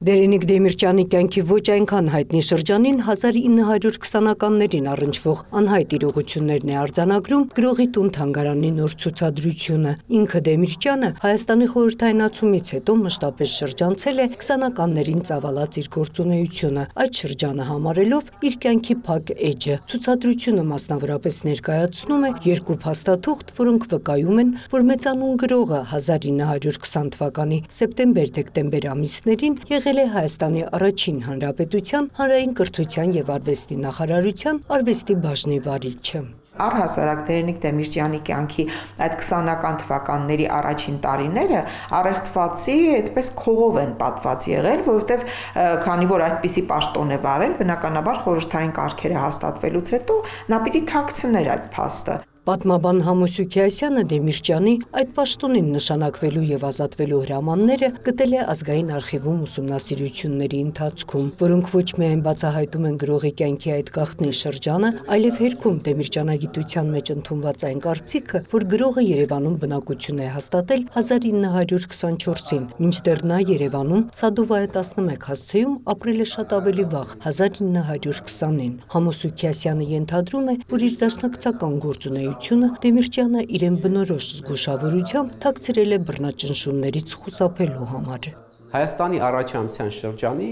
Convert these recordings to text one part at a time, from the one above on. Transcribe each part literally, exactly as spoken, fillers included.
Դերենիկ Դեմիրճյանի կյանքի ոչ այնքան հայտնի շրջանին հազար ինը հարյուր քսանականներին առնչվող անհայտ իրողություններն է արձանագրում գրողի տուն թանգարանի նոր ցուցադրությունը։ Ինքը Դեմիրճյանը Հայաստանի խորհրդայնացումից հետո մշտապես շրջանցել է քսանականներին ծավալած իր գործունեությունը, այդ շրջանը համարելով իր կյանքի փակ էջը։ Ցուցադրությունը մասնավորապես ներկայացնում է երկու փաստաթուղթ, որոնք վկայում են, որ մեծանուն գրողը հազար ինը հարյուր քսան թվականի սեպտեմբեր-դեկտեմբեր ամիսներին եղել է Հայաստանի առաջին հանրապետության հանրային կրթության եւ արվեստի նախարարության արվեստի բաժնի վարիչը։ Առհասարակ Դերենիկ Դեմիրճյանի կյանքի այդ քսանական թվականների առաջին տարիները առեղծվածի այդպես քողով են պատված եղել, որովհետև քանի որ այդպիսի պաշտոն է վարել, բնականաբար խորհրդային կարգերը հաստատվելուց հետո նա պիտի թաքցներ այդ փաստը։ Պատմաբան Համոս Սուքիասյանը Դեմիրճյանի այդ պաշտոնին նշանակվելու եւ ազատվելու հրամանները գտել է ազգային արխիվում ուսումնասիրությունների ընթացքում, որոնք ոչ միայն բացահայտում են գրողի կյանքի այդ գաղտնի շրջանը, այլև հերքում Դեմիրճյանագիտության մեջ ընդունված այն կարծիքը, որ գրողը Երևանում բնակություն է հաստատել հազար ինը հարյուր քսանչորսին, մինչդեռ նա Երևանում Սադովայա տասնմեկ հասցեում ապրել է շատ ավելի վաղ, հազար ինը հարյուր քսանին։ Համոս Սուքիասյանը ենթադրում է, որ իր դաշնակցական գործունեությունը Դեմիրճյանը իրեն բնորոշ զգուշավորությամբ թաքցրել է բռնաճնշումներից խուսափելու համար։ Հայաստանի առաջամության շրջանի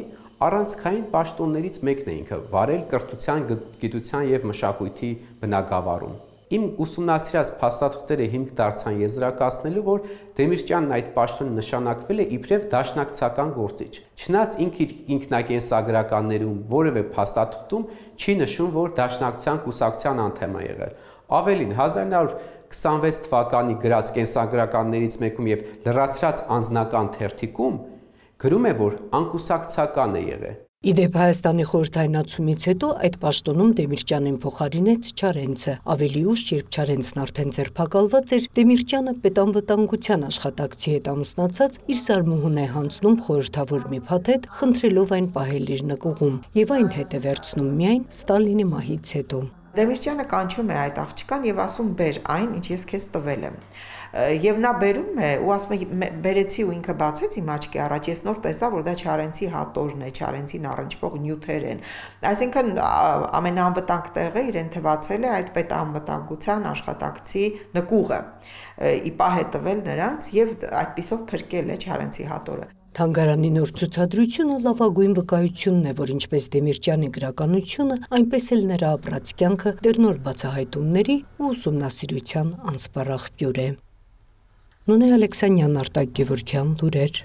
առանցքային պաշտոններից մեկն է ինքը վարել կրթության, գիտության եւ մշակույթի բնագավառում։ Իմ ուսումնասիրած փաստաթղթերը հիմք դարձան եզրակացնելու, որ Դեմիրճյանն այդ պաշտոնը նշանակվել է իբրև դաշնակցական գործիչ։ Չնայած ինքը իր ինքնակենսագրականներում որևէ փաստաթղթում չի նշում, որ դաշնակցության կուսակցության անդամ է եղել։ Ավելին, հազար ինը հարյուր քսանվեց թվականի գրած կենսագրականներից մեկում եւ լրացրած անձնական թերթիկում գրում է, որ անկուսակցական է եղել։ Իդեպ Հայաստանի խորհրդայնացումից հետո այդ պաշտոնում Դեմիրճյանին փոխարինեց Չարենցը։ Ավելի ուշ, երբ Չարենցն արդեն ձերբակալված էր, Դեմիրճյանը պետանվտանգության աշխատակցի հետ ամուսնացած իր զարմուհուն է հանձնում խորհրդավոր մի փաթեթ, խնդրելով այն պահել իր նկուղում, եւ այն հետ է վերցնում միայն Ստալինի մահից հետո։ Դեմիրճյանը կանչում է այդ աղջկան եւ ասում բեր այն, ինչ ես քեզ տվել եմ։ Եվ նա բերում է ու ասում է բերեցի ու ինքը բացեց իմ աչքի առաջ, ես նոր տեսա, որ դա Չարենցի հատորն է, Չարենցին առնչվող նյութեր են։ Այսինքն ամենաանվտանգ տեղը իրեն թվացել է այդ պետանվտանգության աշխատակցի նկուղը։ Ի պահ է տվել նրանց եւ այդպիսով փրկել է Չարենցի հատորը։ Թանգարանի նոր ցուցադրությունը լավագույն վկայությունն է, որ ինչպես Դեմիրճյանի գրականությունը, այնպես էլ նրա ապրած կյանքը դեռնոր բացահայտումների ու ուսումնասիրության անսպառ աղբյուր է։ Նոնե Ալեքսանյան, Արտակ Գևորգյան, լուրեր։